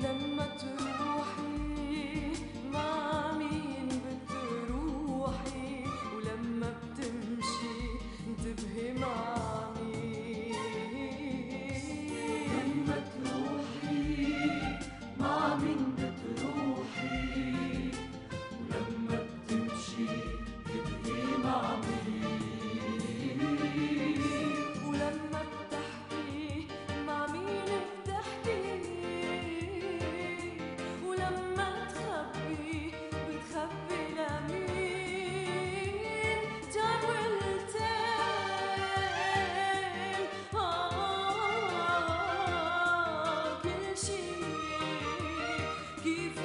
لما تروحي مع مين بتروحي، ولما بتمشي انتبهي مع مين. لما تروحي مع مين بتروحي، ولما بتمشي انتبهي مع مين. ولما بتحكي مع مين بتحكي، ولما تخبي بتخبي لمين. time will tell كل شي كيف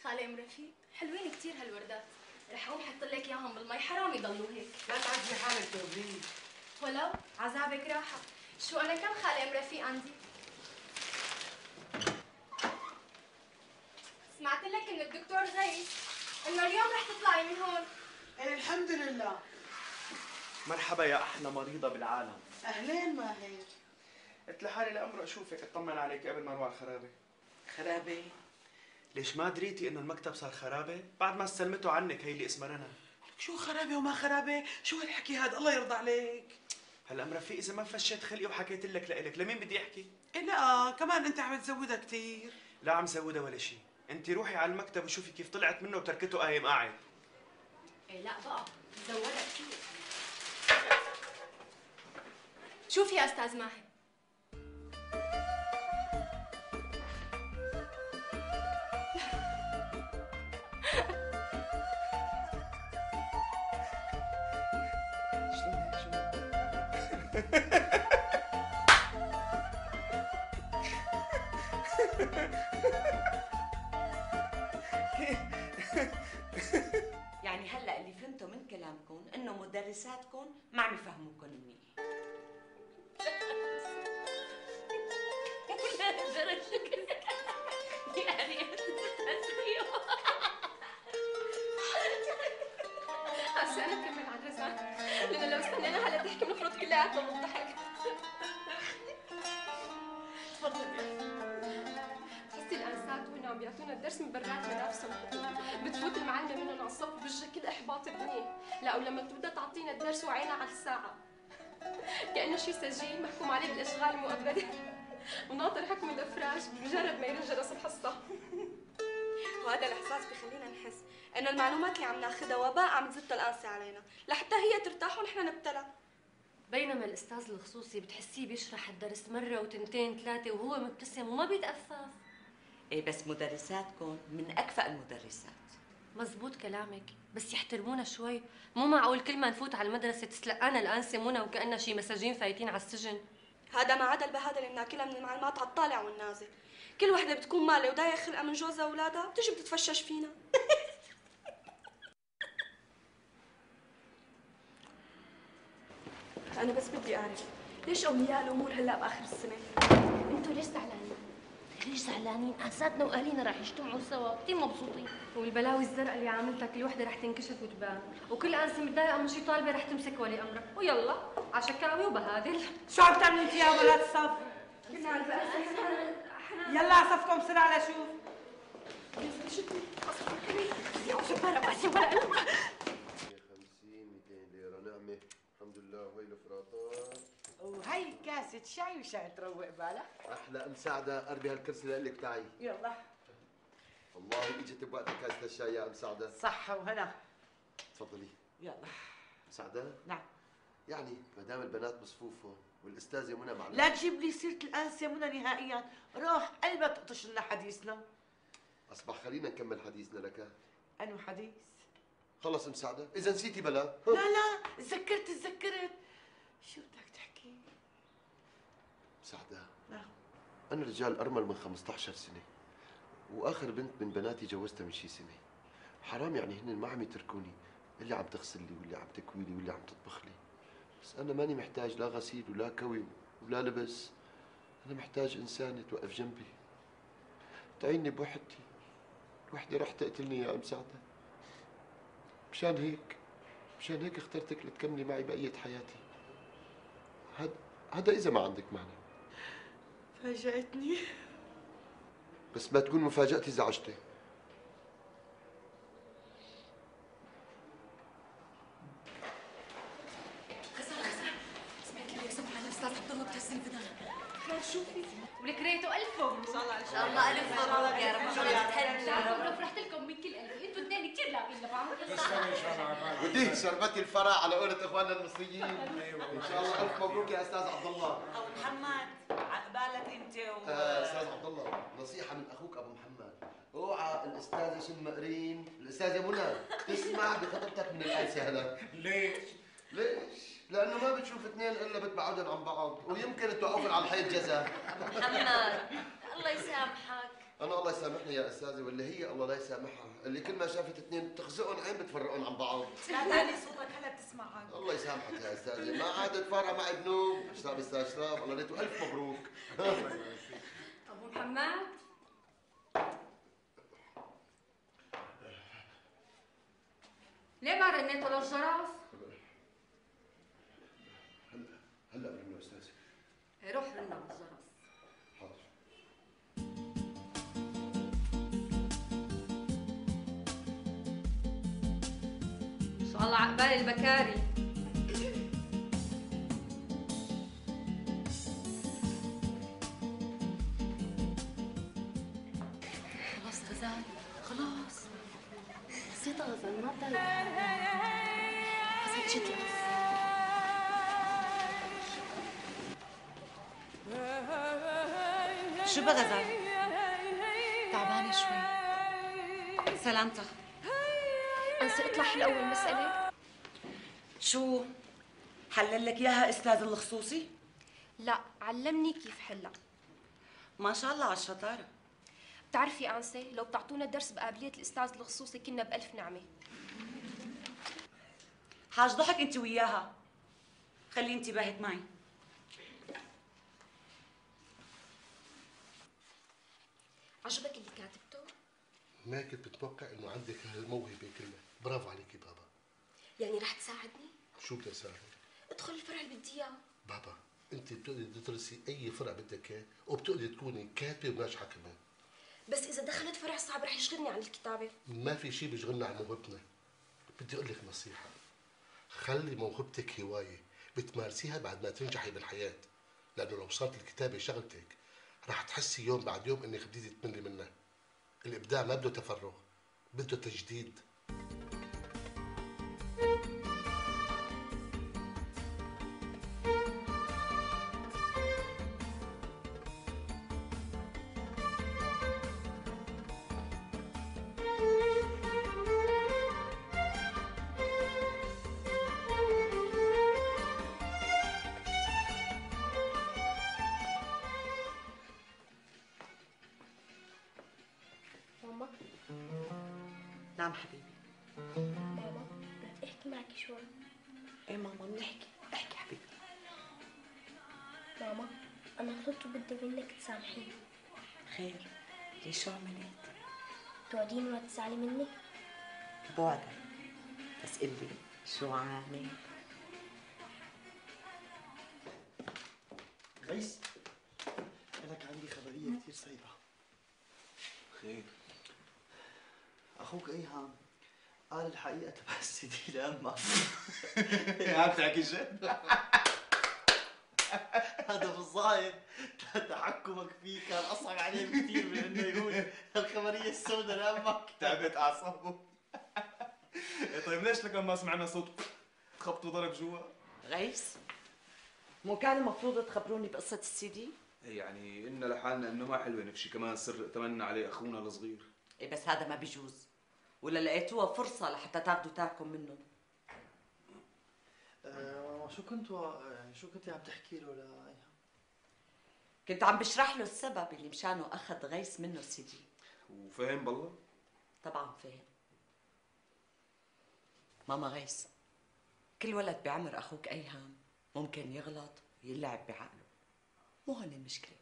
خالة ام رفيق، حلوين كثير هالوردات، رح اقوم احط لك اياهم بالمي، حرام يضلوا هيك. لا تعذبي حالك توبرين. ولو عذابك راحة. شو انا كم خالة ام رفيق عندي؟ سمعت لك من الدكتور غيث انه اليوم رح تطلعي من هون. ايه الحمد لله. مرحبا يا احلى مريضة بالعالم. اهلين ماهر. قلت لحالي لأمر اشوفك اطمن عليك قبل ما اروح على الخرابة. خرابة؟ ليش ما دريتي انه المكتب صار خرابة؟ بعد ما استلمته عنك هي اللي اسمها رنا. شو خرابة وما خرابة؟ شو هالحكي هذا؟ الله يرضى عليك. هلا ام رفيق اذا ما فشيت خلقي وحكيت لك لإلك، لمين بدي احكي؟ إيه لا كمان انت عم تزودها كثير. لا عم زودها ولا شيء، انت روحي على المكتب وشوفي كيف طلعت منه وتركته قايم قاعد. ايه لا بقى، زودها كثير. شوفي يا استاذ ماهر، يعني هلا اللي فهمته من كلامكم انه مدرساتكم ما عم يفهموكم منيح. يعني هسه انا بكمل عن رزان، لانه لو استنينا هلا تحكي بنفرط كلياتنا بالضحك. تفضلي. بتحسي الانسات وهن عم بيعطونا الدرس من برات مدارسهم، بتفوت المعلمه منهم على الصف بوجهها كل احباط الدنيا، لا ولما بتبدا تعطينا الدرس وعينا على الساعه كانه شي سجين محكوم عليه بالاشغال المؤبده وناطر حكم الافراج بمجرد ما يرن جرس الحصه. وهذا الإحساس بخلينا نحس إنه المعلومات اللي عم ناخذها وباء عم تزتها القاسي علينا لحتى هي ترتاح ونحن نبتلى. بينما الأستاذ الخصوصي بتحسيه بيشرح الدرس مرة وتنتين ثلاثة وهو مبتسم وما بيتأفف. ايه بس مدرساتكم من أكفأ المدرسات. مزبوط كلامك، بس يحترمونا شوي. مو معقول كل ما نفوت على المدرسة تسلقانا الأنسة منى وكأننا شي مساجين فايتين على السجن. هذا ما عدا البهادل اللي بناكلها من المعلومات على الطالع والنازل. كل وحده بتكون مالة وداية خلقها من جوزها واولادها بتجي بتتفشش فينا. انا بس بدي اعرف ليش اولياء الامور هلا باخر السنه؟ انتوا ليش زعلانين؟ ليش زعلانين؟ انساتنا واهالينا رح يجتمعوا سوا، كثير مبسوطين. والبلاوي الزرقاء اللي عاملتها كل وحده رح تنكشف وتبان، وكل انسه متضايقه من شي طالبه رح تمسك ولي امرها، ويلا على شكاوي وبهادل. شو عم تعملوا انت يا بنات الصف؟ يلا على صفكم بسرعه لشوف. يا جبارة بس ولا 50 200 ليره نعمه الحمد لله. وهي الفراطات وهي كاسة شاي وشاي تروق بالك. احلى مساعده قربي هالكرسي لك تعي. يلا والله اجت بوقتها كاسه الشاي يا مساعده. صحة وهنا. تفضلي. يلا مساعده؟ نعم. يعني ما دام البنات بصفوفهم والاستاذه منى معنا لا تجيب لي سيرة الأنسة منى نهائيا، روح قلبها تقطش لنا حديثنا. اصبح خلينا نكمل حديثنا لك. أنو حديث؟ خلص مساعده، اذا نسيتي بلا. لا تذكرت شو بدك تحكي؟ مساعده نعم. انا رجال ارمل من 15 سنه، واخر بنت من بناتي جوزتها من شي سنه. حرام يعني هن ما عم يتركوني، اللي عم تغسل لي واللي عم تكوي لي واللي عم تطبخ لي. بس انا ماني محتاج لا غسيل ولا كوي ولا لبس، انا محتاج انسانه توقف جنبي تعيني بوحدتي. الوحده رح تقتلني يا ام سعده. مشان هيك اخترتك لتكملي معي بقيه حياتي. هذا اذا ما عندك معنى. فاجأتني. بس ما تكون مفاجأتي زعجتك. سمعت اللي يسمع على الاستاذ عبد الله بتهز البدن. خير شوفي ولك ريته ألف مبروك. ان شاء الله الله ألف مبروك يا رب. فرحت لكم من كل قلبي، انتوا اثنين كثير لاقين لبعض. وديك شربتي الفرح على قولة اخواننا المصريين. ان شاء الله الف مبروك يا استاذ عبد الله. أو محمد عقبالك أنت استاذ عبد الله، نصيحة من اخوك ابو محمد، اوعى الاستاذة شم قرين، الاستاذة منى تسمع بخطبتك من الانسة هلا. ليش؟ لأنه ما بتشوف اثنين إلا بتبعدن عن بعض، ويمكن توقفن على الحيط جزا. محمد الله يسامحك. أنا الله يسامحني يا أستاذي، واللي هي الله لا يسامحها، اللي كل ما شافت اثنين تخزقن عين بتفرقن عن بعض. لا تعلي صوتك هلا بتسمعك. الله يسامحك يا أستاذي، ما عاد تفارق معي بنوب، اشرب أستاذ شراب، الله ريته ألف مبروك. أبو محمد ليه ما رنيتوا للجرس؟ هلا برنه أستاذي. روح رنا بالجرس. حاضر. إن شاء الله عقبال البكاري. خلاص غزال خلاص. بسيطة غزال ما بضل. غزال شد شو بغزال؟ تعبانة شوي. سلامتك. انسى اطلع حل اول مسألة. شو؟ حلل لك اياها استاذ الخصوصي؟ لا علمني كيف حلها. ما شاء الله على الشطاره. بتعرفي انسة لو بتعطونا درس بقابلية الاستاذ الخصوصي كنا بألف نعمة. حاج ضحك انت وياها. خلي انتباهك معي. عجبك اللي كاتبته؟ ما كنت متوقع انه عندك هالموهبه كلها، برافو عليكي بابا. يعني رح تساعدني؟ شو بدي اساعدك؟ ادخل الفرع اللي بدي اياه. بابا انت بتقدري تدرسي اي فرع بدك اياه، وبتقدري تكوني كاتبه وناجحه كمان. بس اذا دخلت فرع صعب رح يشغلني عن الكتابة. ما في شيء بيشغلنا عن موهبتنا. بدي اقول لك نصيحه، خلي موهبتك هوايه بتمارسيها بعد ما تنجحي بالحياه، لانه لو صارت الكتابه شغلتك رح تحسي يوم بعد يوم انك بديتي تملي منها. الابداع ما بده تفرغ، بده تجديد. ماما نعم حبيبي. ماما بدي احكي معك شوي. ايه ماما بنحكي، احكي حبيبي. ماما انا غلطت وبدي منك تسامحيني. خير، ليش شو عملت؟ توعديني ولا تزعلي مني؟ بوعدك، بس قلي شو عامل؟ غيث، لك عندي خبرية كثير صعبة. خير؟ أخوك إيهام قال الحقيقة تبع السي دي لأمك. عم تحكي جد؟ هذا بالظاهر تحكمك فيه كان أصعب عليه بكثير من إنه يقول الخبرية السوداء لأمك. تعبت أعصابه. طيب ليش لك ما سمعنا صوت خبط وضرب جوا؟ غيث، مو كان المفروض تخبروني بقصة السي دي؟ يعني قلنا لحالنا انه ما حلوه نفشي كمان سر ائتمنا عليه اخونا الصغير. ايه بس هذا ما بيجوز، ولا لقيتوها فرصة لحتى تاخذوا تاعكم منه؟ شو كنتي عم تحكي له لإيهام؟ كنت عم بشرح له السبب اللي مشانه اخذ غيث منه السي دي. وفهم بالله؟ طبعا فهم. ماما غيث، كل ولد بعمر اخوك ايهام ممكن يغلط ويلعب بعقله، مو هون المشكلة.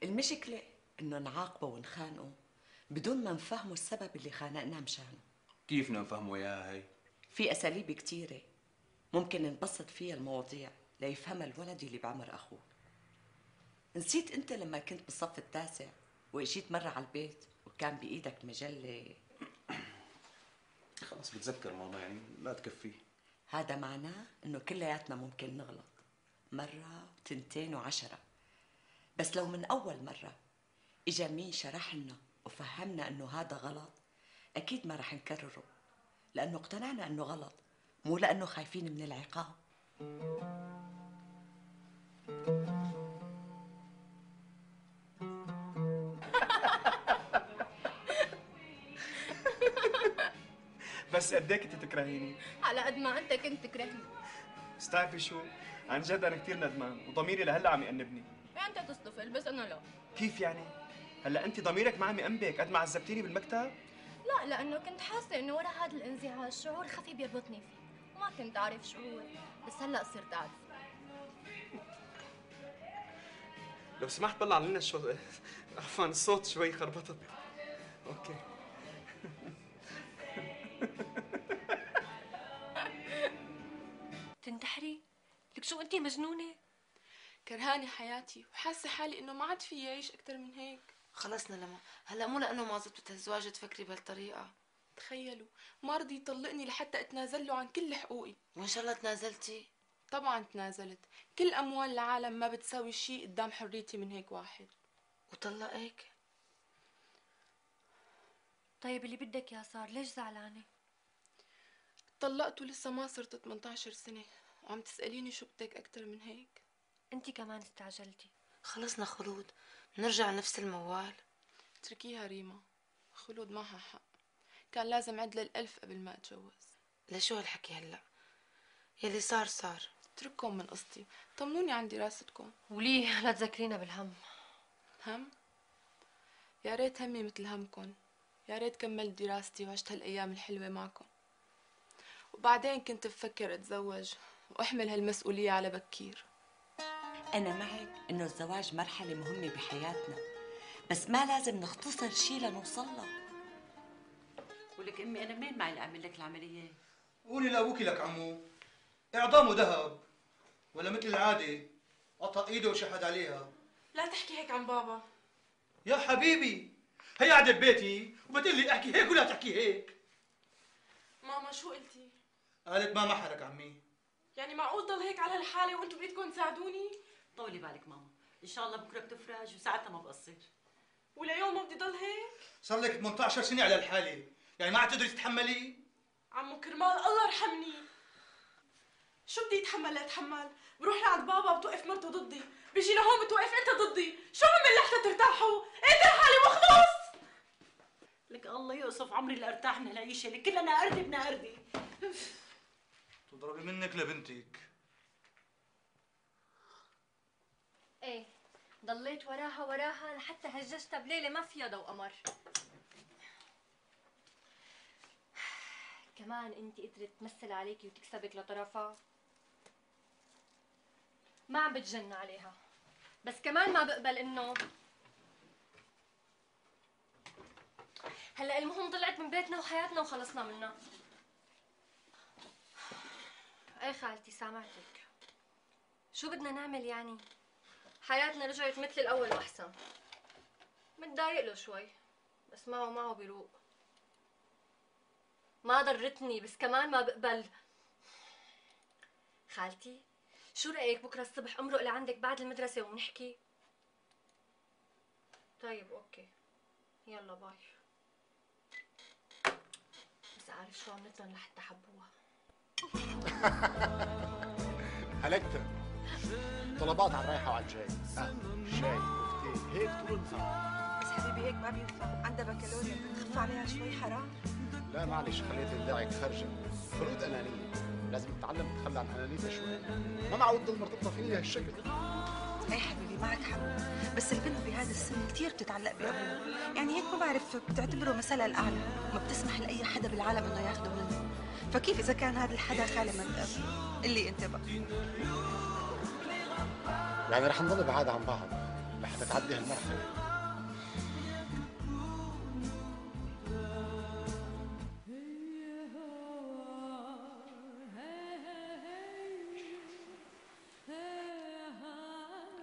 المشكلة انه نعاقبه ونخانقه بدون ما نفهمه السبب اللي خانقنا مشانه. كيف بدنا نفهمه اياها هي؟ في اساليب كثيرة ممكن نبسط فيها المواضيع ليفهمها الولد اللي بعمر اخوك. نسيت انت لما كنت بالصف التاسع واجيت مرة على البيت وكان بايدك مجلة؟ خلص بتذكر ماما، يعني لا تكفيه. هذا معناه انه كلياتنا ممكن نغلط مرة وتنتين وعشرة، بس لو من اول مرة اجا مين شرح لنا وفهمنا انه هذا غلط اكيد ما رح نكرره، لانه اقتنعنا انه غلط، مو لانه خايفين من العقاب. بس قد ايه كنت تكرهيني؟ على قد ما انت كنت تكرهني. بس تعرفي شو؟ عن جد انا كثير ندمان وضميري لهلا عم يأنبني. انت تصطفل بس انا لا. كيف يعني؟ هلا انت ضميرك ما عم يأنبك قد ما عذبتيني بالمكتب؟ لا، لانه كنت حاسه انه ورا هذا الانزعاج شعور خفي بيربطني فيه، وما كنت اعرف شو هو، بس هلا صرت اعرف. لو سمحت طلع لنا شو عفوا الصوت شوي خربطت. اوكي. تنتحري؟ لك شو انتي مجنونة؟ كرهاني حياتي وحاسة حالي انه ما عاد في اعيش اكتر من هيك. خلصنا لما هلا مو لانه ما زبطت الزواج تفكري بهالطريقة. تخيلوا ما رضي يطلقني لحتى اتنازل له عن كل حقوقي. وان شاء الله تنازلتي؟ طبعا تنازلت، كل اموال العالم ما بتساوي شيء قدام حريتي من هيك واحد. وطلقك؟ طيب اللي بدك يا صار، ليش زعلانة؟ طلقت ولسه ما صرت 18 سنة وعم تسأليني شو بدك اكتر من هيك؟ انتي كمان استعجلتي. خلصنا خلود، نرجع نفس الموال. اتركيها ريما، خلود معها حق، كان لازم عدل ال1000 قبل ما اتجوز. لشو هالحكي هلا؟ يلي صار صار. اترككم من قصتي، طمنوني عن دراستكم. وليه لا تذكرينا بالهم؟ هم؟ يا ريت همي مثل همكم، يا ريت كملت دراستي وعشت هالايام الحلوه معكم، وبعدين كنت بفكر اتزوج واحمل هالمسؤوليه على بكير. انا معك انه الزواج مرحله مهمه بحياتنا، بس ما لازم نختصر شيء لنوصل له. ولك امي انا منين معي لاعمل لك العمليه؟ قولي لابوكي لك عمو اعظامه ذهب، ولا مثل العاده قطع ايده وشحد عليها. لا تحكي هيك عن بابا. يا حبيبي هي قاعده ببيتي وبتقول لي احكي هيك ولا تحكي هيك. ماما شو قلتي؟ قالت ما محرك عمي. يعني معقول ضل هيك على هالحاله وانتم بدكم تساعدوني؟ طولي بالك ماما، ان شاء الله بكره بتفرج وساعتها ما بقصر. وليوم ما بدي ضل هيك؟ صار لك 18 سنه على الحاله، يعني ما عاد تقدري تتحملي؟ عمو كرمال الله يرحمني، شو بدي اتحمل لاتحمل؟ بروح لعند بابا بتوقف مرته ضدي، بيجي لهون بتوقف انت ضدي، شو بعمل لحتى ترتاحوا؟ اقتل حالي واخلص. لك الله يوصف عمري اللي ارتاح من العيشه اللي كلها ناقردي بناقردي. تضربي منك لبنتك. ايه ضليت وراها لحتى هججتها بليله ما فيها ضوء قمر. كمان انت قدرت تمثل عليكي وتكسبك لطرفها. ما عم بتجن عليها، بس كمان ما بقبل انه هلا المهم طلعت من بيتنا وحياتنا وخلصنا منها. ايه خالتي سامعتك. شو بدنا نعمل يعني؟ حياتنا رجعت مثل الاول واحسن. متضايق له شوي بس معه بيروق. ما ضرتني بس كمان ما بقبل. خالتي شو رأيك بكره الصبح امرق لعندك بعد المدرسة ونحكي؟ طيب اوكي يلا باي. بس عارف شو عملتلن لحتى حبوها؟ هلكتها طلبات على الرايحة وعلى الجاي، شاي كفتين هيك طول النهار. بس حبيبي هيك ما بينفع، عندها بكالوريا، خف عليها شوي حرام. لا معلش خليت الداعي خرجة، خلود أنانية، لازم تتعلم تتخلى عن أنانيتها شوي، ما معود تضل مرتبطة فيني بهالشكل. ايه حبيبي معك حق، بس البنت بهذا السن كثير بتتعلق بأبوها، يعني هيك ما بعرف بتعتبره مثلها الأعلى، ما بتسمح لأي حدا بالعالم إنه ياخده منه، فكيف إذا كان هذا الحدا خالي من الأب؟ اللي أنت بقى. يعني رح نضل بعاد عن بعض لحتى تعدي هالمرحلة.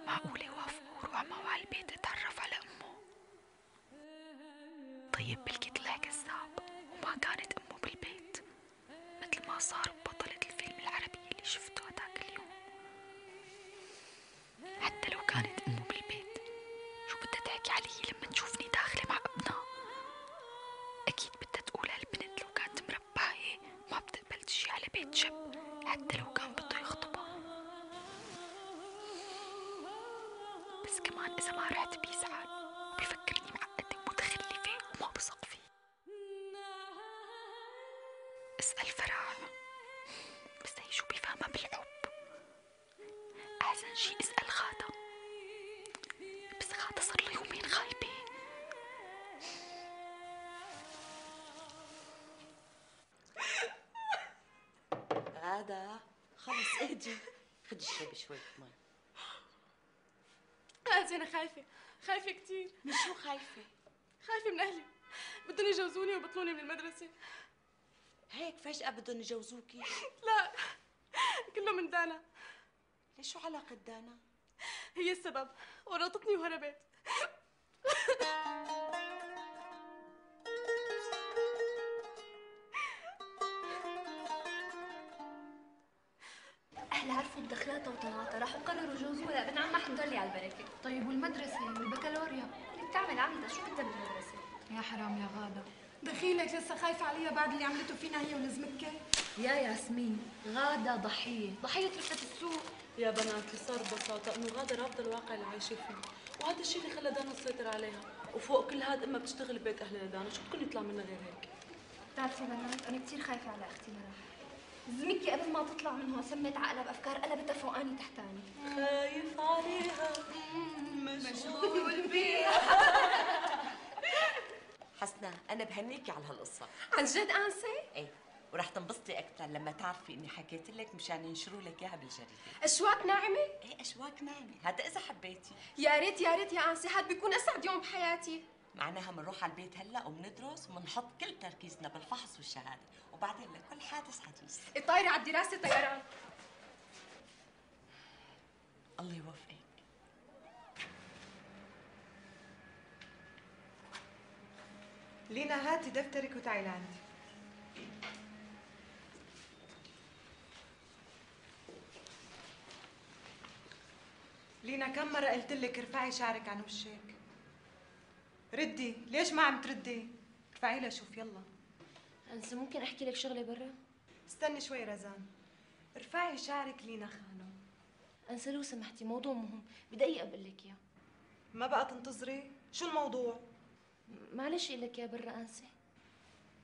معقولة يوافقوا وروح معه على البيت اتعرف على أمه؟ طيب بلكي طلع كذاب وما كانت أمه بالبيت مثل ما صار ببطلة الفيلم العربي اللي شفته هداك اليوم. حتى لو كانت أمه بالبيت شو بدها تحكي علي لما تشوفني داخلة مع ابنها؟ أكيد بدها تقول هالبنت لو كانت مرباية ما بتقبل تجي على بيت شاب حتى لو كان بده يخطبها. بس كمان إذا ما رحت بيزعل وبيفكرني معقدة ومتخلفة وما بثق فيه. اسأل فرح بس هي شو بيفهمها بالحب. أحسن شي اسأل غادة، بس غادة صار له يومين غايبة. غادة خلص اهدي، خدي اشربي شوية مي. أنا خايفة كتير. من شو خايفة؟ خايفة من أهلي، بدهم يجوزوني ويبطلوني من المدرسة. هيك فجأة بدهم يجوزوكي؟ لا كله من دانا. ليش شو علاقة دانا؟ هي السبب، ورطتني وهربت. أهلها عرفوا بدخلاتها وطلعاتها راحوا قرروا يجوزوها لابن عمها حمدولي على البركة. طيب والمدرسة والبكالوريا؟ اللي بتعمل عملتها شو بدها بالمدرسة؟ يا حرام يا غادة. دخيلك لسه خايفة عليها بعد اللي عملته فينا هي ولزمكة. يا ياسمين غادة ضحية رفقة السوق. يا بنات اللي صار ببساطة انه غادة رافضة الواقع اللي عايشة فيه، وهذا الشيء اللي خلى دانا تسيطر عليها، وفوق كل هذا امها بتشتغل ببيت اهلها دانا، شو بدكم يطلع منا غير هيك؟ بتعرفي بنات أنا كثير خايفة على أختي مرة. زمكي قبل ما تطلع من هون سمت عقلها بأفكار قلبتها فوقاني تحتاني. خايف عليها مشغول بيها. حسنا أنا بهنيكي على هالقصة. عن جد أنسة؟ إيه، ورح تنبسطي أكثر لما تعرفي إني حكيت لك مشان ينشروا لك إياها بالجريدة. أشواك ناعمة؟ إيه أشواك ناعمة، هذا إذا حبيتي. يا ريت يا أنسة، هاد بيكون أسعد يوم بحياتي. معناها بنروح على البيت هلا وبندرس وبنحط كل تركيزنا بالفحص والشهادة، وبعدين لكل حادث حديث. الطايرة على الدراسة طيران. الله يوفقك. لينا هاتي دفترك وتعي لعندي. لينا كم مرة قلت لك ارفعي شعرك عن وشك؟ ردي، ليش ما عم تردي؟ ارفعي لها شوف يلا. أنسة ممكن أحكي لك شغلة برا؟ استني شوي رزان. ارفعي شعرك لينا خانم. أنسة لو سمحتي موضوع مهم، بدقيقة بقول لك إياه. ما بقى تنتظري؟ شو الموضوع؟ معلش قول لك إياه برا أنسة.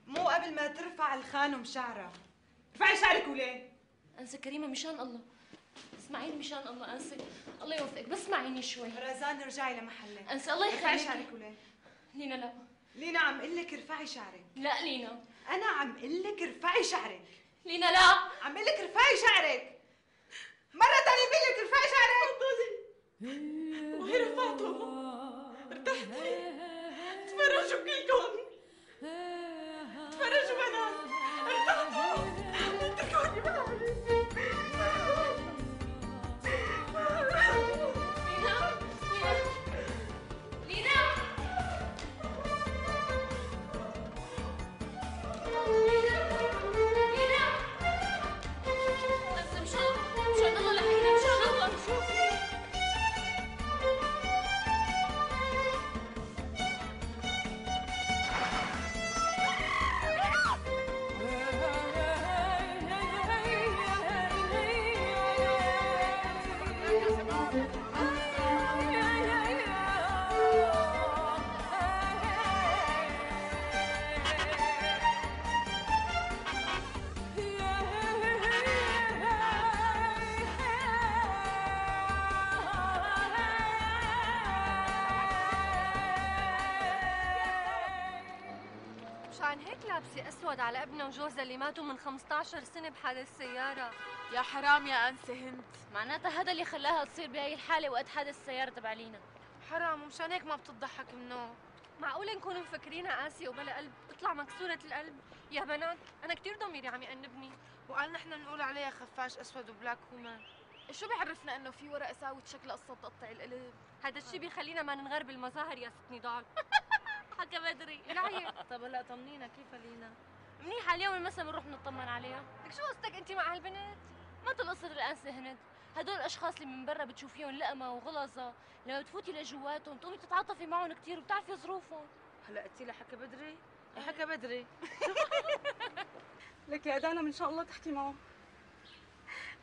مو قبل ما ترفع الخانم شعرها. ارفعي شعرك وليه؟ أنسة كريمة مشان الله. اسمعيني مشان الله أنسة، الله يوفقك بس اسمعيني شوي. رزان ارجعي لمحلك. أنسة الله يخليكي. ارفعي شعرك وليه؟ لينا لا. لينا عم قل لك ارفعي شعرك. لا لينا. أنا عم قل لك ارفعي شعرك. لينا لا. عم قل لك ارفعي شعرك. مرة ثانية بقول لك ارفعي شعرك. والله رفعته. ارتحتي؟ تفرجوا كلكم. تفرجوا بنات. ارتحتوا؟ اتركوني بحالي. مشان هيك لابسه اسود على ابنها وجوزها اللي ماتوا من 15 سنه بحادث سياره. يا حرام يا أنسة هند. معناتها هذا اللي خلاها تصير بهي الحالة وقت حادث السيارة تبع لينا. حرام ومشان هيك ما بتضحك منه. معقوله نكون مفكرينها قاسيه وبلا قلب تطلع مكسوره القلب؟ يا بنات انا كثير ضميري عم يأنبني. وقال نحن نقول عليها خفاش اسود وبلاك وومن. شو بيعرفنا انه في ورق ساوت شكل قصه تقطع القلب؟ هذا الشيء بيخلينا ما ننغر بالمظاهر يا ست نضال. حكى بدري. العيب. طب هلا طمنينا كيف لينا؟ منيحة اليوم المسا بنروح نطمن عليها. لك شو قصتك انت مع هالبنت؟ مثل قصة الأنسة هند، هدول الأشخاص اللي من برا بتشوفيهم لقمة وغلظة، لما بتفوتي لجواتهم بتقومي تتعاطفي معهم كثير وبتعرفي ظروفهم. هلا قلتي لها حكى بدري؟ يا حكى بدري. لك يا دانا من شاء الله تحكي معه.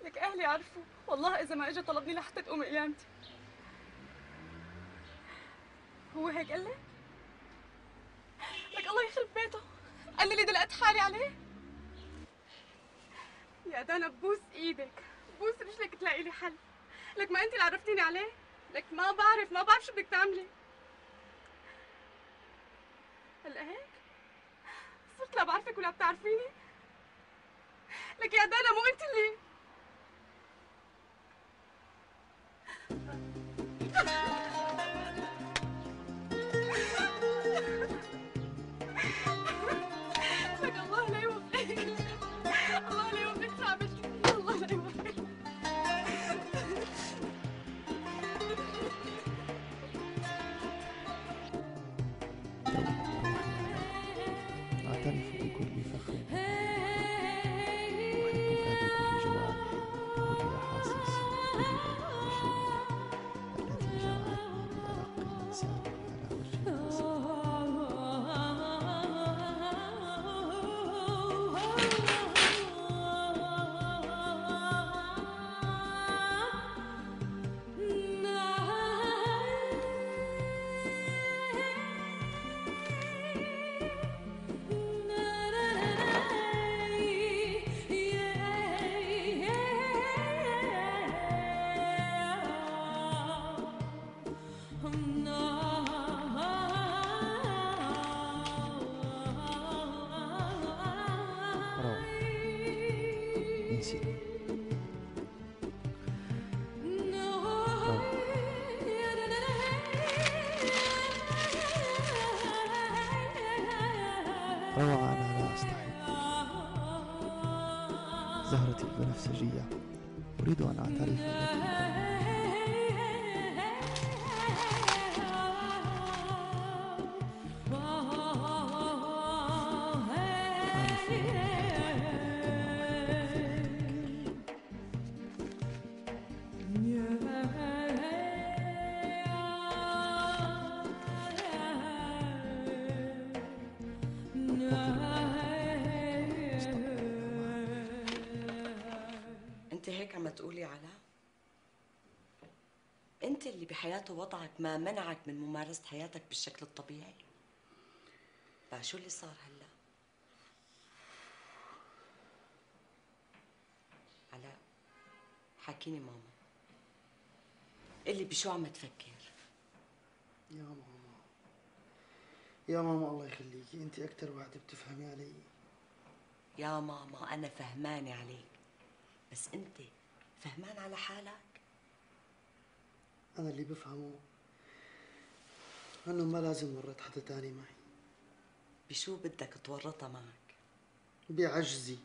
لك أهلي عرفوا، والله إذا ما إجا طلبني لحتى تقوم قيامتي. هو هيك قال لك؟ لك الله يخرب بيته، قال لي اللي دلقت حالي عليه. يا دانا ببوس ايدك، ببوس رجلك تلاقي لي حل. لك ما انت اللي عرفتيني عليه، لك ما بعرف شو بدك تعملي. هلا هيك؟ صرت لا بعرفك ولا بتعرفيني. لك يا دانا مو انت اللي لك الله لا يوفقك. الله لا يوفقك شو عملتي فيه. الله لا يوفقك. أعترف بكل فخر أحبك بكل جوارحي بكل أحاسيسي بكل شيء التي جمعتني بأرق الإنسان على وجه الأرض. نسيت. روعة أنا لا أستحي. زهرتي البنفسجية أريد أن أعترف لك. اللي بحياته وضعك ما منعك من ممارسة حياتك بالشكل الطبيعي؟ بقى شو اللي صار هلا؟ علاء حكيني ماما، قلي بشو عم تفكر؟ يا ماما يا ماما الله يخليكي، انت اكثر وحده بتفهمي علي. يا ماما انا فهمانه عليك، بس انت فهمان على حالك؟ انا اللي بفهمه انه ما لازم ورط حدا تاني معي. بشو بدك تورطها معك؟ بعجزي،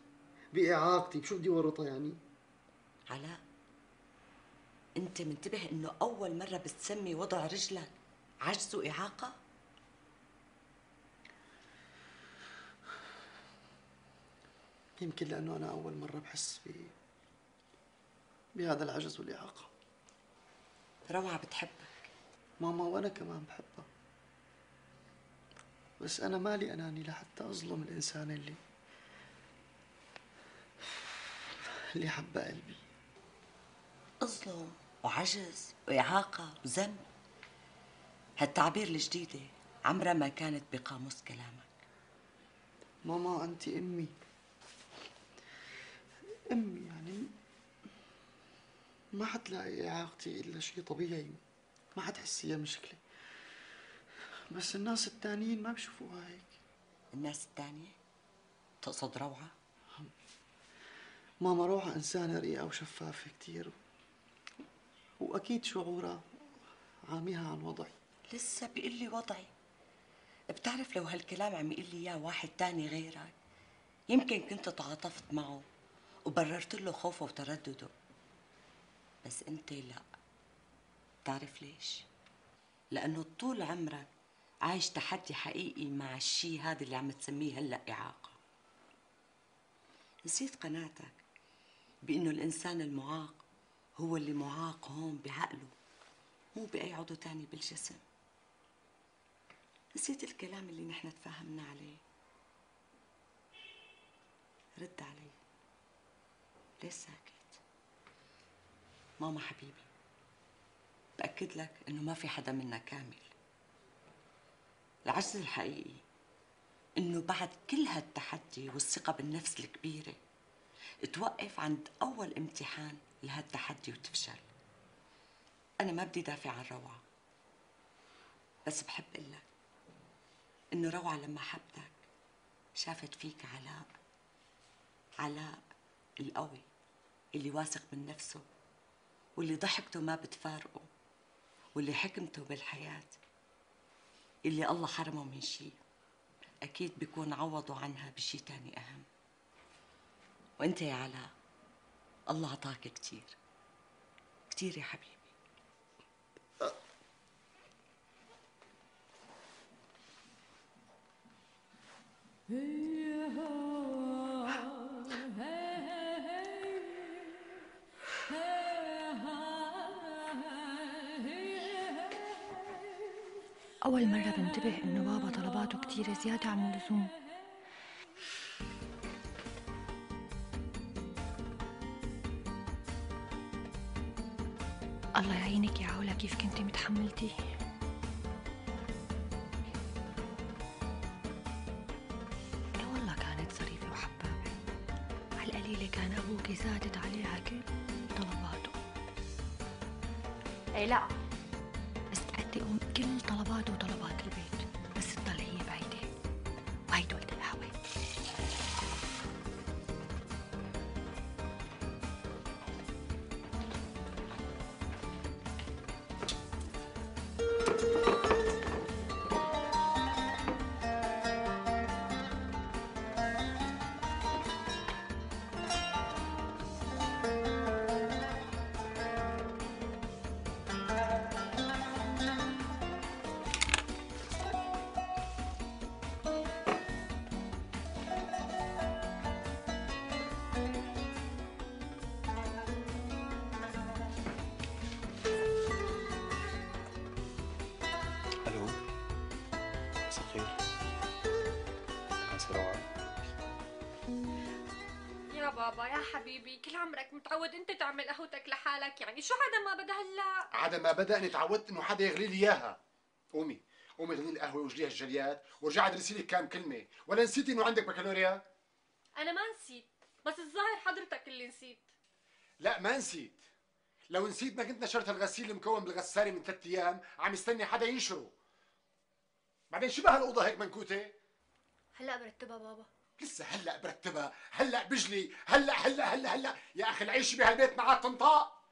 بإعاقتي، بشو بدي ورطها يعني؟ علاء انت منتبه انه اول مرة بتسمي وضع رجلك عجز وإعاقة؟ يمكن لأنه أنا أول مرة بحس بهذا العجز والإعاقة. روعة بتحبك ماما، وأنا كمان بحبها، بس أنا مالي أناني لحتى أظلم الإنسان اللي حب قلبي. اظلم وعجز وإعاقة وذنب، هالتعبير الجديدة عمرها ما كانت بقاموس كلامك. ماما أنت أمي يعني ما حتلاقي إعاقتي إلا شيء طبيعي، ما حتحسيها مشكلة، بس الناس التانيين ما بشوفوها هيك. الناس التانية؟ تقصد روعة؟ ماما روعة إنسانة رقيقة وشفافة كتير، وأكيد شعورها عاميها عن وضعي. لسه بيقول لي وضعي؟ بتعرف لو هالكلام عم يقول لي إياه واحد تاني غيرك يمكن كنت تعاطفت معه وبررت له خوفه وتردده، بس أنت لا. بتعرف ليش؟ لأنه طول عمرك عايش تحدي حقيقي مع الشيء هذا اللي عم تسميه هلأ إعاقة. نسيت قناعتك بأنه الإنسان المعاق هو اللي معاق هون بعقله، مو بأي عضو تاني بالجسم. نسيت الكلام اللي نحن تفاهمنا عليه. رد علي، ليش ساكت؟ ماما حبيبي، بأكد لك إنه ما في حدا منا كامل. العجز الحقيقي إنه بعد كل هالتحدي والثقة بالنفس الكبيرة توقف عند أول امتحان لهالتحدي وتفشل. أنا ما بدي دافع عن روعة، بس بحب قلك إنه روعة لما حبتك شافت فيك علاء القوي اللي واثق من نفسه، واللي ضحكته ما بتفارقه، واللي حكمته بالحياة اللي الله حرمه من شيء أكيد بيكون عوضوا عنها بشي تاني أهم. وأنت يا علاء الله عطاك كتير كتير يا حبيبي. أول مرة بنتبه إنه بابا طلباته كتيرة زيادة عن اللزوم. الله يعينك يا علا كيف كنتي متحملتي. لا والله كانت ظريفة وحبابة، على القليلة كان أبوكي زادت عليها كل طلباته. أي لا، بس تأدي كل طلباته وطلبات البيت، بس تضل هي بعيدة، وهيدي ولد الهوى. بابا يا حبيبي، كل عمرك متعود انت تعمل قهوتك لحالك، يعني شو عدا ما بدا هلا؟ عدا ما بدا اني تعودت انه حدا يغلي لي اياها. قومي قومي اغلي لي القهوه واجليها الجليات وارجعي ادرسي لي كام كلمه، ولا نسيتي انه عندك بكالوريا؟ انا ما نسيت، بس الظاهر حضرتك اللي نسيت. لا ما نسيت. لو نسيت ما كنت نشرت الغسيل المكون بالغساله من 3 ايام عم يستني حدا ينشره. بعدين شو بهالاوضه هيك منكوته؟ هلا برتبها بابا. لسه هلا برتبها، هلا بجلي، هلا يا اخي العيش بهالبيت معك تنطاق.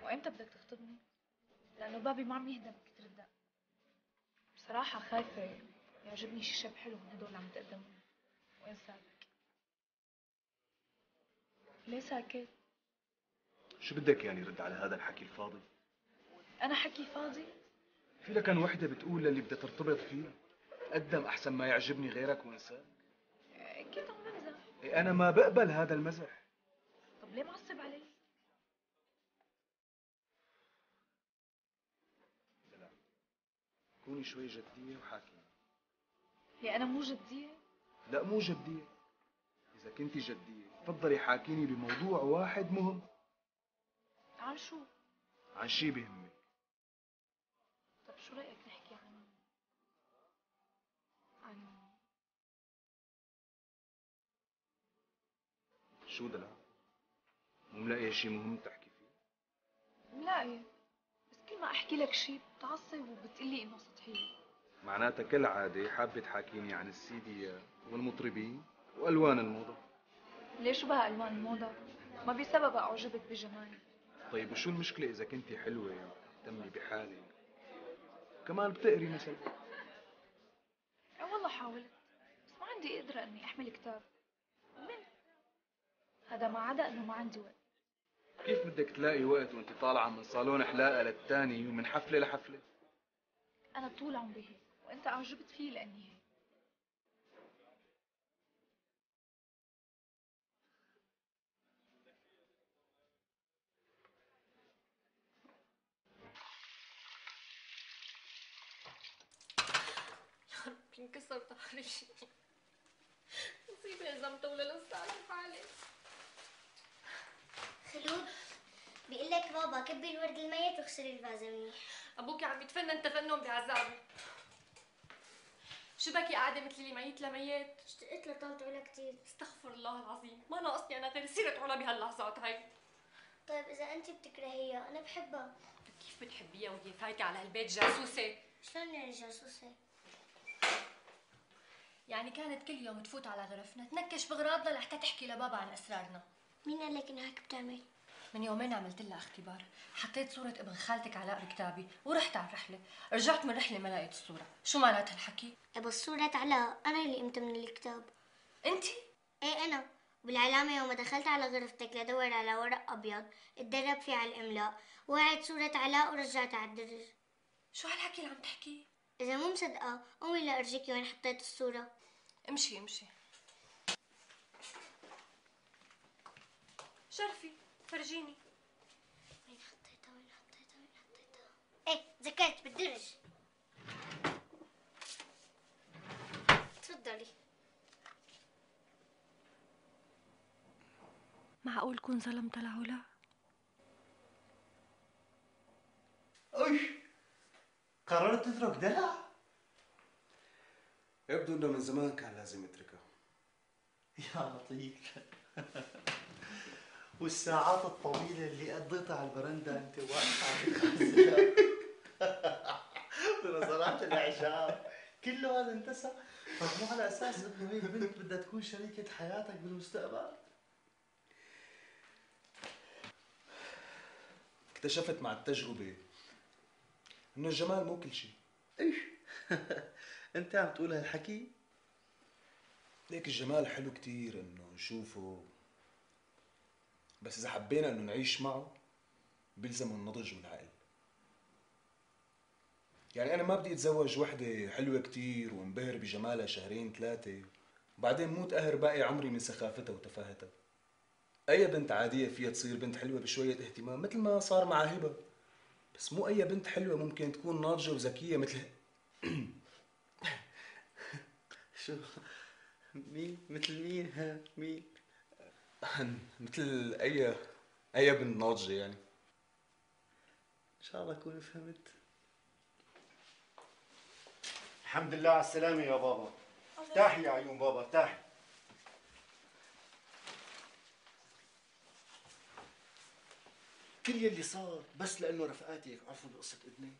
وامتى بدك تخطبني؟ لانه بابي ما عم يهدى من كتر الدق. بصراحة خايفة يعجبني شي شاب حلو من هدول اللي عم تقدمهم. وين ساكت؟ ليه ساكت؟ شو بدك يعني رد على هذا الحكي الفاضي؟ أنا حكي فاضي؟ في لكان وحدة بتقول للي بدها ترتبط فيه قدم أحسن ما يعجبني غيرك وانساك. أكيد عم بمزح. إيه أنا ما بقبل هذا المزح. طب ليه معصب علي؟ لا كوني شوي جدية وحاكي. ليه أنا مو جدية؟ لا مو جدية. إذا كنتي جدية تفضلي حاكيني بموضوع واحد مهم. عن شو؟ عن شي بيهمك. طب شو رأيك نحكي عن شو دلع؟ مو ملاقي شي مهم تحكي فيه؟ ملاقي، بس كل ما أحكي لك شي بتعصب وبتقلي إنه سطحية. معناتها كالعادة حابة تحاكيني عن السيديات والمطربين وألوان الموضة. ليش بها ألوان الموضة؟ ما بسبب أعجبك بجمالي. طيب وشو المشكلة إذا كنتي حلوة وتهتمي بحالك؟ كمان بتقري مثلا. والله حاولت، بس ما عندي قدرة إني أحمل كتاب. ومن هذا ما عدا إنه ما عندي وقت. كيف بدك تلاقي وقت وانت طالعة من صالون حلاقة للتاني ومن حفلة لحفلة؟ أنا طول عمري هيك، وأنت أعجبت فيه لأني هيك. يا رب ينكسر ظهري. مصيبة إذا مطولة لسه على حالي. خلود بيقول لك بابا كبي الورد الميت واغسلي الفازة منيح. أبوك عم يتفنن تفنن بعذابي. شو بكي قاعدة مثل اللي ميت لميت؟ اشتقت لطالت علا كتير. استغفر الله العظيم، ما ناقصني أنا غير سيرة علا بهاللحظات هاي. طيب إذا أنت بتكرهيها أنا بحبها. كيف بتحبيها وهي فايتة على هالبيت جاسوسة؟ شلون يعني جاسوسة؟ يعني كانت كل يوم تفوت على غرفنا تنكش بغراضنا لحتى تحكي لبابا عن أسرارنا. مين قال لك إنه هيك بتعمل؟ من يومين عملت لها اختبار، حطيت صورة ابن خالتك علاء بكتابي ورحت على الرحلة، رجعت من الرحلة ما لقيت الصورة، شو معناتها الحكي؟ بس صورة علاء أنا اللي قمت من الكتاب. أنت؟ إيه أنا، بالعلامة يوم دخلت على غرفتك لدور على ورق أبيض اتدرب فيه على الإملاء، وقعت صورة علاء ورجعت على الدرج. شو هالحكي اللي عم تحكيه؟ إذا مو مصدقة قومي لأرجيكي وين حطيت الصورة. امشي امشي. شرفي فرجيني. وين حطيتها؟ ايه ذكرت بالدرج. تفضلي. معقول كون ظلمت لعلا؟ ايش؟ قررت تترك دلع؟ يبدو انه من زمان كان لازم يتركها. يا لطيف. والساعات الطويلة اللي قضيتها على البرندة انت واقف على الخزان ونظرات الاعجاب كله هذا انتسى. طب مو على اساس انه هيك بنت بدها تكون شريكة حياتك بالمستقبل؟ اكتشفت مع التجربة انه الجمال مو كل شيء. ايش؟ انت عم تقول هالحكي؟ ليك الجمال حلو كتير انه نشوفه، بس اذا حبينا انه نعيش معه بيلزم النضج والعقل. يعني انا ما بدي اتزوج وحده حلوه كتير وانبهر بجمالها شهرين ثلاثه وبعدين موت قهر باقي عمري من سخافتها وتفاهتها. اي بنت عاديه فيها تصير بنت حلوه بشويه اهتمام مثل ما صار مع هبه، بس مو اي بنت حلوه ممكن تكون ناضجه وذكيه مثل شو مين مثل مين ها مين؟ مثل اي بنت ناضجة يعني. ان شاء الله اكون فهمت. الحمد لله على السلامة يا بابا. ارتاحي يا عيون بابا ارتاحي. كل يلي صار بس لأنه رفقاتك عرفوا بقصة ابنك.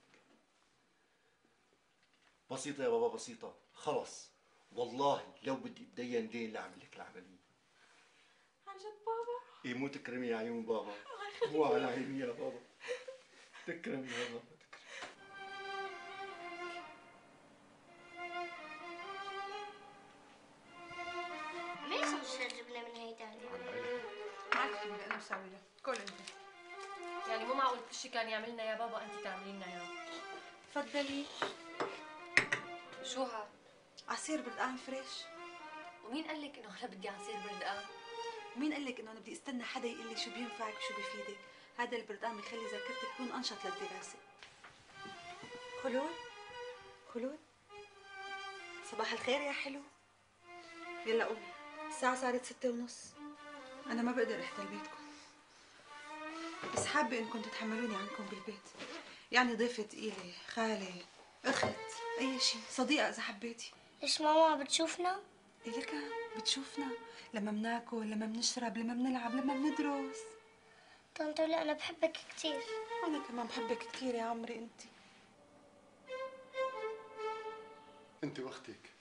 بسيطة يا بابا بسيطة، خلص والله لو بدي اتدين دين لأعمل لك العملية. عن جد بابا؟ إيه مو تكرمي يا عيون بابا. مو على عيني يا بابا. تكرمي يا بابا. ليش مش جبنا من هي تاني؟ معك خليل انا بسوي لك، كل انت. يعني مو معقول كل شيء كان يعملنا يا بابا انت تعملي لنا اياه. تفضلي. شو هاد؟ عصير بردقان فريش. ومين قال لك انه انا بدي عصير بردقان؟ ومين قال لك انه انا بدي استنى حدا يقول لي شو بينفعك وشو بيفيدك؟ هذا البردقان بيخلي ذاكرتك تكون انشط للدراسه. خلود خلود صباح الخير يا حلو. يلا قومي، الساعة صارت 6:30. أنا ما بقدر أحتل بيتكم، بس حابة إنكم تتحملوني عنكم بالبيت. يعني ضيفة تقيلة، خالة، أخت، أي شيء، صديقة إذا حبيتي. ليش ماما بتشوفنا؟ إيه لك بتشوفنا لما بناكل، لما بنشرب، لما بنلعب، لما بندرس. طنط لا أنا بحبك كثير. أنا كمان بحبك كثير يا عمري. أنت وأختك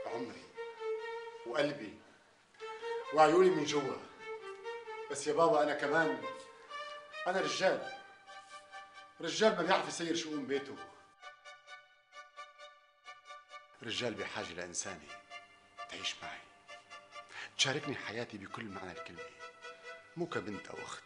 عمري وقلبي وعيوني من جوا. بس يا بابا أنا كمان أنا رجال ما بيعرف يسير شؤون بيته. رجال بحاجة لإنسانة تعيش معي تشاركني حياتي بكل معنى الكلمة، مو كبنت أو أخت.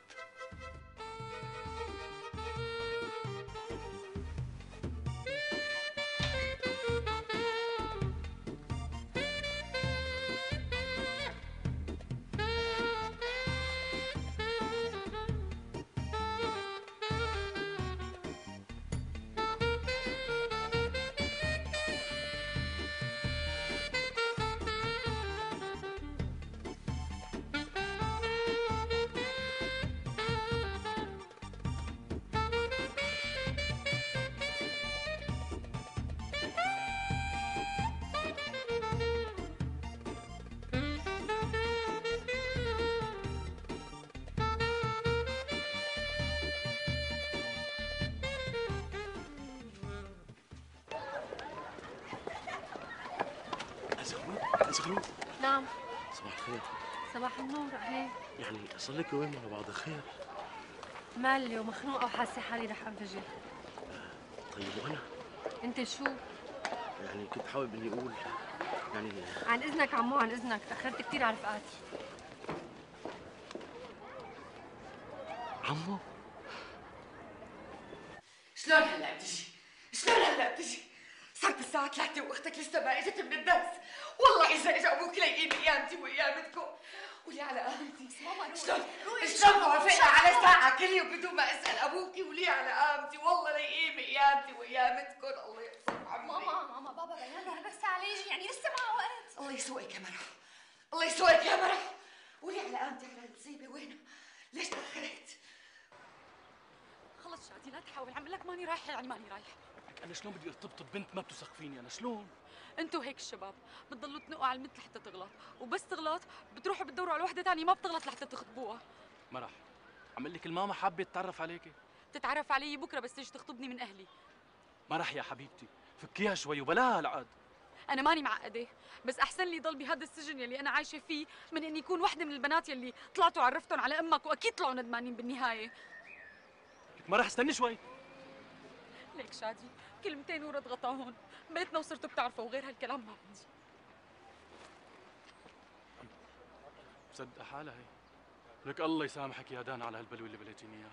زغلول. نعم. صباح الخير. صباح النور. اهلين. يعني صار لك يومين مع بعض خير؟ مالي ومخنوقه وحاسه حالي رح انفجر. طيب وانا؟ انت شو؟ يعني كنت حابب اني اقول يعني عن اذنك عمو، عن اذنك، تاخرت كثير على رفقاتي. عمو شلون هلا بتجي؟ شلون هلا بتجي؟ صارت الساعة 3 واختك لسه ما اجت من الدرس. والله اذا اجى ابوك ليقيم قيامتي وقيامتكم. قولي على قامتي. شلون وافقنا على ساعة كل يوم بدون ما اسال ابوكي ولي على قامتي؟ والله ليقيم قيامتي وقيامتكم. الله يقسم عمي. ماما بابا بيان له بس على يجي، يعني لسه معه وقت. الله يسوقك يا مرح، الله يسوقك يا مرح. قولي على قامتي على المصيبة وينها؟ ليش تأخرت؟ خلص شادي لا تحاول، عم لك ماني رايحه يعني ماني رايحه. انا شلون بدي ارتبط ببنت ما بتثق فيني؟ انا شلون؟ انتوا هيك الشباب بتضلوا تنقوا على المثل لحتى تغلط، وبس تغلط بتروحوا بتدوروا على وحده ثانيه ما بتغلط لحتى تخطبوها. مرح عمل لك الماما حابه تتعرف عليكي. تتعرف علي بكره بس تيجي تخطبني من اهلي. مرح يا حبيبتي فكيها شوي وبلاها هالعقد. انا ماني معقده، بس احسن لي ضل بهذا السجن يلي انا عايشه فيه من اني اكون وحده من البنات يلي طلعتوا عرفتهم على امك واكيد طلعوا ندمانين بالنهايه. لك مرح استني شوي. ليك شادي كلمتين ورد غطاهن، بيتنا وصرتوا بتعرفوا وغير هالكلام ما بدي. مصدقه حالها هي. لك الله يسامحك يا دانا على هالبلوه اللي بليتيني اياها.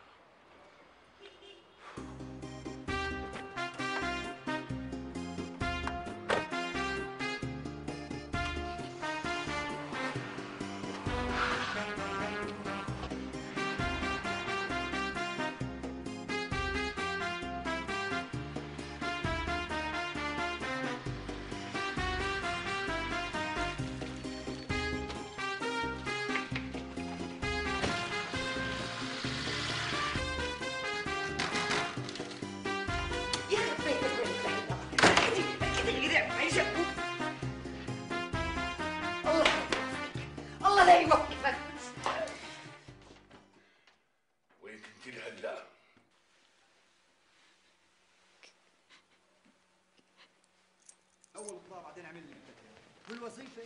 يلا بعدين اعمل اللي بدك اياه. والوظيفه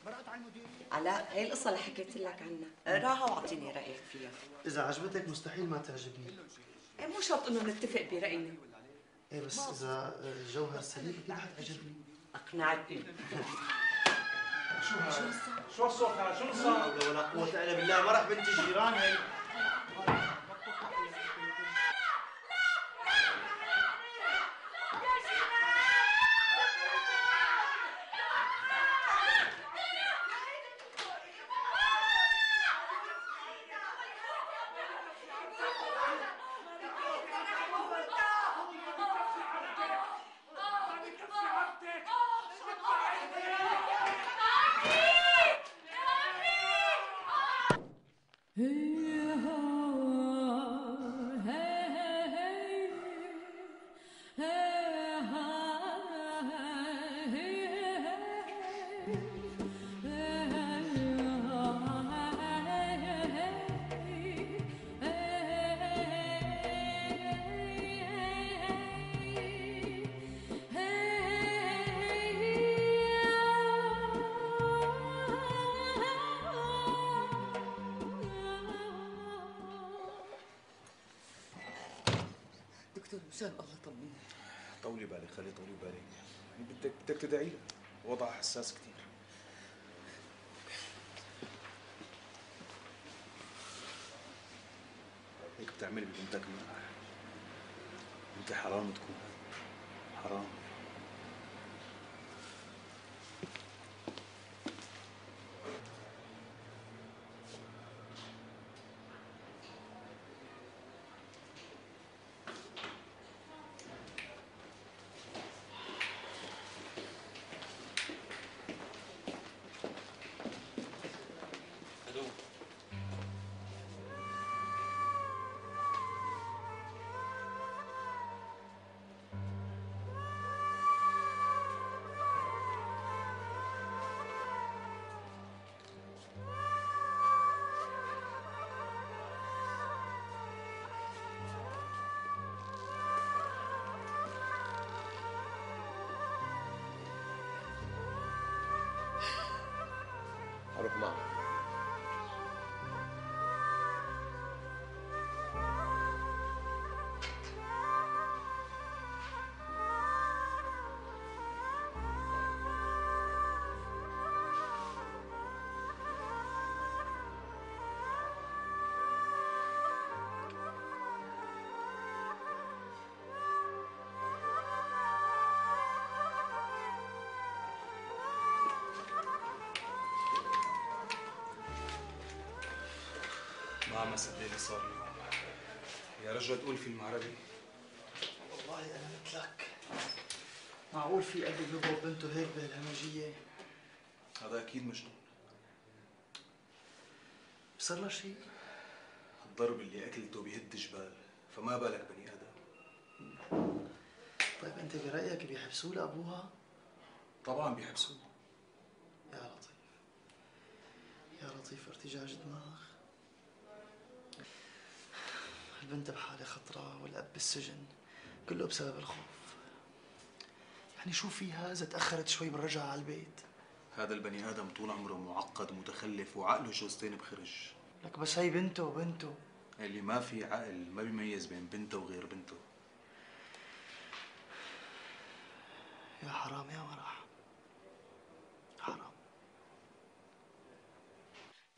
مرقت على المدير. علاء، هي القصة اللي حكيت لك عنها، اقراها واعطيني رأيك فيها. اذا عجبتك مستحيل ما تعجبني. إيه مو شرط انه نتفق برأينا. ايه بس اذا الجوهر سليم اكيد حتعجبني. اقنعتني. شو الصوت هذا؟ شو صار؟ لا حول ولا قوة الا بالله، مرح بنت الجيران هي. دكتور مشان الله طمني. طولي بالك، خلي طولي بالك، يعني بدك تدعي لها، وضعها حساس كثير. هيك بتعملي ببنتك مناح. انت حرام تكون حرام. اروح معك. ما عم اصدق اللي صار اليوم. يا رجل تقول فيلم عربي. والله انا مثلك. معقول في ابي بيضرب بنته هيك بهالهمجيه؟ هذا اكيد مجنون. صار له شيء؟ الضرب اللي اكلته بيهد جبال، فما بالك بني ادم. طيب انت برايك بيحبسوه لابوها؟ طبعا بيحبسوه. يا لطيف يا لطيف، ارتجاج دماغ. البنت بحالة خطرة والأب بالسجن، كله بسبب الخوف. يعني شو فيها إذا تأخرت شوي بالرجعة على البيت؟ هذا البني ادم طول عمره معقد متخلف وعقله جوزتين بخرج. لك بس هي بنته. اللي ما في عقل ما بيميز بين بنته وغير بنته. يا حرام يا مرح، حرام.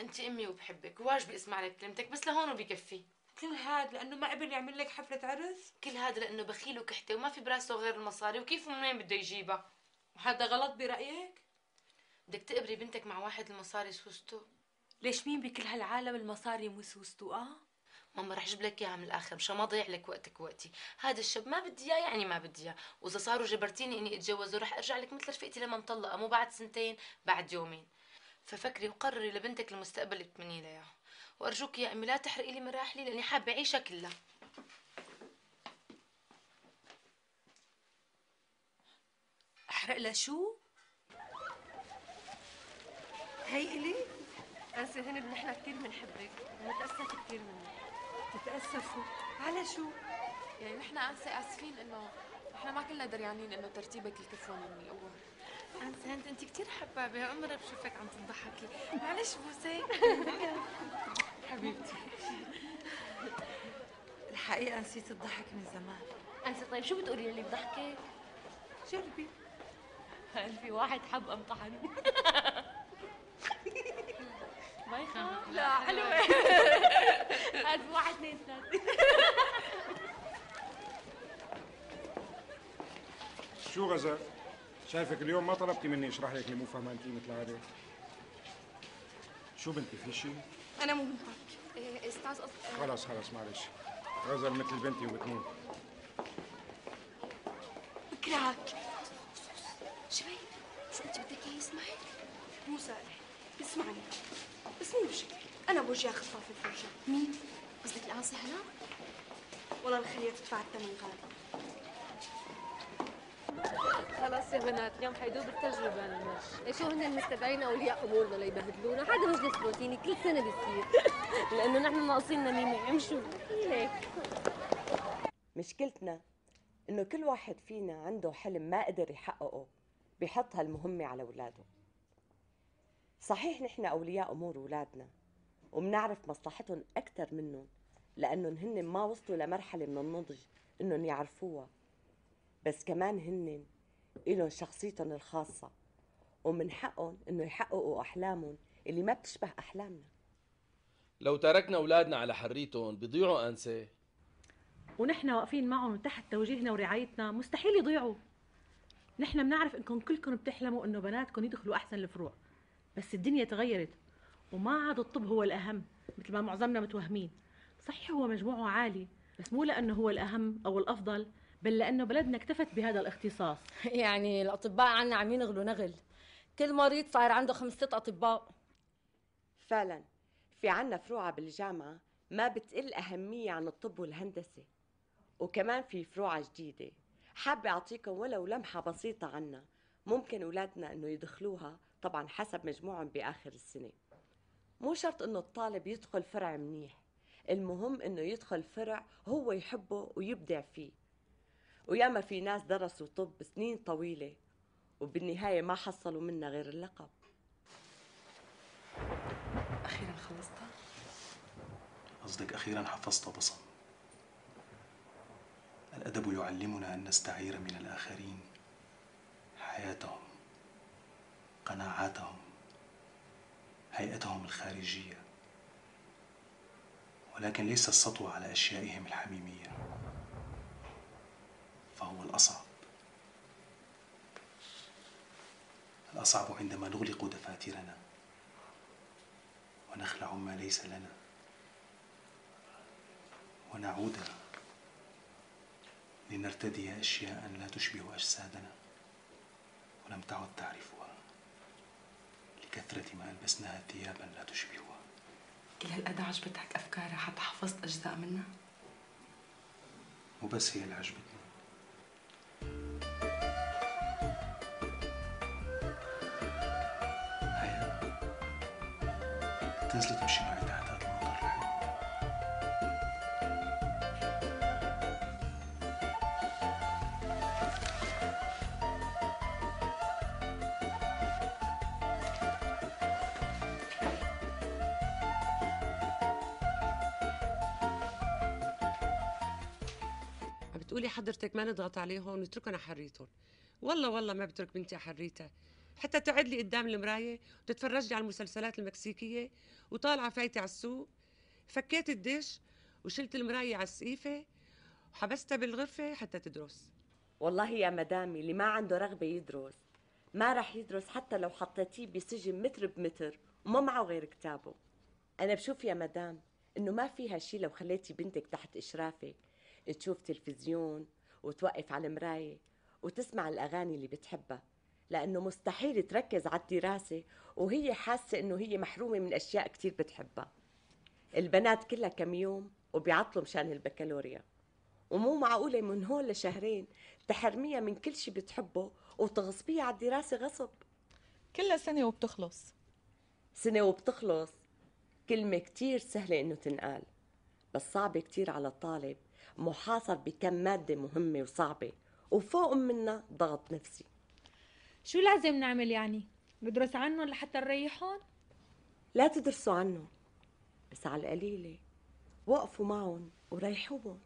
انت امي وبحبك وواجبي اسمع لك كلمتك، بس لهون وبكفي. كل هاد لانه ما قبل يعمل لك حفله عرس؟ كل هذا لانه بخيل وكحته وما في براسه غير المصاري، وكيف ومن وين بده يجيبها؟ وهذا غلط برايك؟ بدك تقبري بنتك مع واحد المصاري سوسته؟ ليش مين بكل هالعالم المصاري مو سوسته؟ ماما رح اجيب لك اياها من الاخر مشان ما اضيع لك وقتك ووقتي. هذا الشاب ما بدي اياه يعني ما بدي اياه، واذا صاروا جبرتيني اني اتجوزه رح ارجع لك مثل رفيقتي لما مطلقه، مو بعد سنتين، بعد يومين. ففكري وقرري لبنتك المستقبل اللي بتمني لها اياه، وارجوك يا امي لا تحرقي لي مراحلي لاني حابه اعيشها كلها. احرق لها شو؟ هي إلي؟ أنسة هند، نحن كثير بنحبك ونتأسف كثير منك. تتأسفوا؟ على شو؟ يعني نحن أنسة آسفين إنه نحن ما كلنا دريانين إنه ترتيبك الكفون من الأول. أنسة انت كتير حبابة، أول مرة بشوفك عم تضحكي. معلش بوسة. حبيبتي الحقيقة نسيت الضحك من زمان. أنسة طيب شو بتقولي اللي بضحكك؟ جربي. هل في واحد حب امطحن؟ ما يخاف. لا حلوة. هل في 1 2 3. شو غزال؟ شايفك اليوم ما طلبتي مني اشرح لك اللي مو فهمانتيه مثل العاده. شو بنتي في شيء؟ أنا مو بنتك أستاذ خلص معلش. غزل مثل بنتي وبتموت. بكرهك. شوي شو أنت بدك إياه يسمعك؟ مو صالح اسمعني بس مو بشكل. انا بوجهها خطافه الفرجه. مين؟ قصدك القاصي هلا؟ والله بخليها تدفع الثمن غالي. خلاص يا بنات اليوم حيدوب التجربة المش. شو هن المستدعين أولياء أمورنا ليبهدلونا؟ هذا مجلس روتيني كل سنة بيصير. لأنه نحن ناقصين نميمة. امشوا ليك. مشكلتنا إنه كل واحد فينا عنده حلم ما قدر يحققه بيحط هالمهمة على أولاده. صحيح نحن أولياء أمور أولادنا وبنعرف مصلحتهم أكثر منهم لأنهم هن ما وصلوا لمرحلة من النضج إنهم يعرفوها، بس كمان هن إلهم شخصيتهم الخاصة ومن حقهم إنه يحققوا أحلامهم اللي ما بتشبه أحلامنا. لو تركنا أولادنا على حريتهم بيضيعوا أنسة، ونحن واقفين معهم تحت توجيهنا ورعايتنا مستحيل يضيعوا. نحن بنعرف انكم كلكم بتحلموا انه بناتكم يدخلوا احسن الفروع، بس الدنيا تغيرت وما عاد الطب هو الاهم مثل ما معظمنا متوهمين. صحيح هو مجموعه عالي بس مو لانه هو الاهم او الافضل، بل لانه بلدنا اكتفت بهذا الاختصاص. يعني الأطباء عنا عم ينغلوا نغل. كل مريض صار عنده 5 6 أطباء. فعلا في عنا فروع بالجامعة ما بتقل أهمية عن الطب والهندسة، وكمان في فروع جديدة حابة أعطيكم ولو لمحة بسيطة عنها. ممكن أولادنا إنه يدخلوها طبعا حسب مجموعهم بآخر السنة. مو شرط إنه الطالب يدخل فرع منيح، المهم إنه يدخل فرع هو يحبه ويبدع فيه. وياما في ناس درسوا طب سنين طويلة وبالنهاية ما حصلوا منها غير اللقب. أخيرا خلصتها؟ قصدك أخيرا حفظت بصم. الأدب يعلمنا أن نستعير من الآخرين حياتهم، قناعاتهم، هيئتهم الخارجية، ولكن ليس السطو على أشيائهم الحميمية، فهو الأصعب. الأصعب عندما نغلق دفاترنا ونخلع ما ليس لنا ونعود لنرتدي أشياء لا تشبه أجسادنا ولم تعد تعرفها لكثرة ما ألبسناها ثيابا لا تشبهها. كل هالقد عجبتك أفكارها حتى حفظت أجزاء منها؟ مو بس هي اللي عجبتني، هيا تنزلي تمشي معي تحت هذا المنظر الحلو. بتقولي حضرتك ما نضغط عليهم ونتركهم على حريتهم. والله ما بترك بنتي على حريتها، حتى تقعد لي قدام المرايه وتتفرج لي على المسلسلات المكسيكيه وطالعه فايته على السوق. فكيت الدش وشلت المرايه على السقيفه وحبستها بالغرفه حتى تدرس. والله يا مدامي اللي ما عنده رغبة يدرس ما رح يدرس حتى لو حطيتيه بسجن متر بمتر وما معه غير كتابه. أنا بشوف يا مدام إنه ما فيها شي لو خليتي بنتك تحت إشرافك تشوف تلفزيون وتوقف على المراية وتسمع الأغاني اللي بتحبها، لأنه مستحيل تركز على الدراسة وهي حاسة إنه هي محرومة من أشياء كتير بتحبها. البنات كلها كم يوم وبيعطلوا مشان البكالوريا، ومو معقولة من هون لشهرين تحرميها من كل شي بتحبه وتغصبيها على الدراسة غصب. كلها سنة وبتخلص. سنة وبتخلص كلمة كتير سهلة إنه تنقال، بس صعبة كتير على الطالب محاصر بكم مادة مهمة وصعبة وفوق منها ضغط نفسي. شو لازم نعمل يعني؟ ندرس عنهم لحتى نريحهم؟ لا تدرسوا عنهم، بس على القليلة وقفوا معهم وريحوهم.